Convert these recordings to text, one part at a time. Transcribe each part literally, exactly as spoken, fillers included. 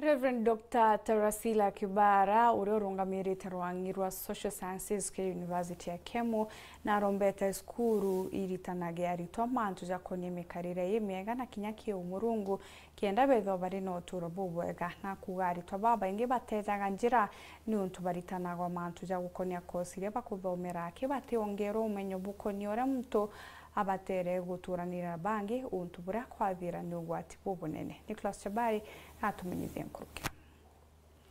Reverend Doctor Tarasila Kibara, uria urungamirite rwang'i rwa Social Sciences kiri University ya Kemu, na arombete cukuru iritanagia aritwa mantu jakonie mikarire imiega na kinya kiu Murungu, kenda bethwa bari na uturo bubwega, na kuuga aritwa babaingi batejaga njira niuntu baritanagwa mantu ja gukonia kosi iria bakuthomera, aki bationgerwa umenyo bukonie uria muntu abatere guturanira na bangi, untu buria kwathira ni ugwati bubunene. Nicholas Chabari natumenyithie nkuruki.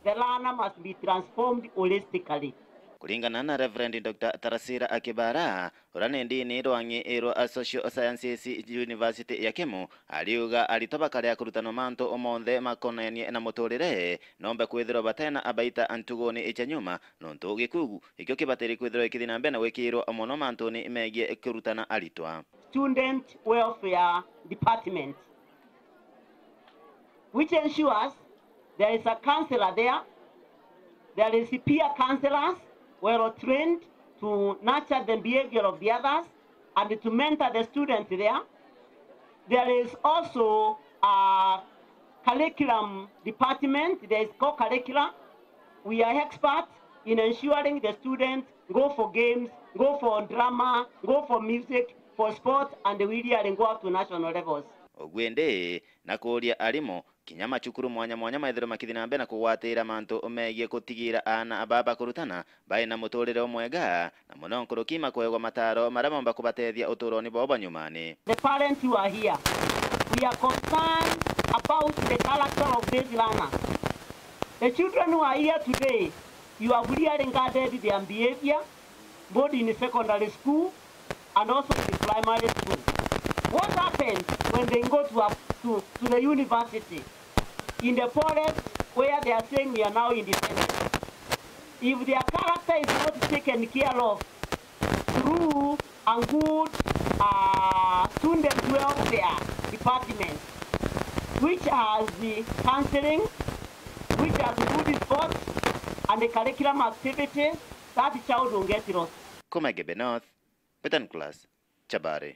The learner must be transformed holistically. Kuringana na Reverend Doctor Tarasira Akibara, uria ni ndini rwang'i rwa Social Sciences University ya Kemu, ariuga aritwa bakaria kurutanwa mantu monthe makonenie na muturire, nombe kwithirwa batena abaita ntuguni icha nyuma, nontu gikugu ikio kibatiri kwithirwa ikithi na mbere na gwikirwa mono mantuni megie kurutana aritwa. Student Welfare Department, which ensures there is a counselor there, there is peer counselors well trained to nurture the behavior of the others and to mentor the students there. There is also a curriculum department, there is co-curricula. We are experts in ensuring the students go for games, go for drama, go for music, for sport, and we really go up to national levels. Uguo indi, na kuuria arimu, kinya macukuru mwanya mwanya methirwe makithi na mbere na kugwatira mantu megie gutigira aana baa bakurutana bai na muturire umwega, na mono nkuruki makuegwa mataro maria maumba kubatethia uturoni bwao bwa nyumani. The parents who are here, we are concerned about the character of these learners. The children who are here today, you have really guarded their behavior, both in secondary school and also in primary school. What happens when they go to, a, to, to the university? In the forest where they are saying we are now independent, if their character is not taken care of through a good, uh, student welfare department, which has the counseling, which has good sports and the curriculum activities, that child will get lost. Kuma Igembe North, Betan Class, Chabari.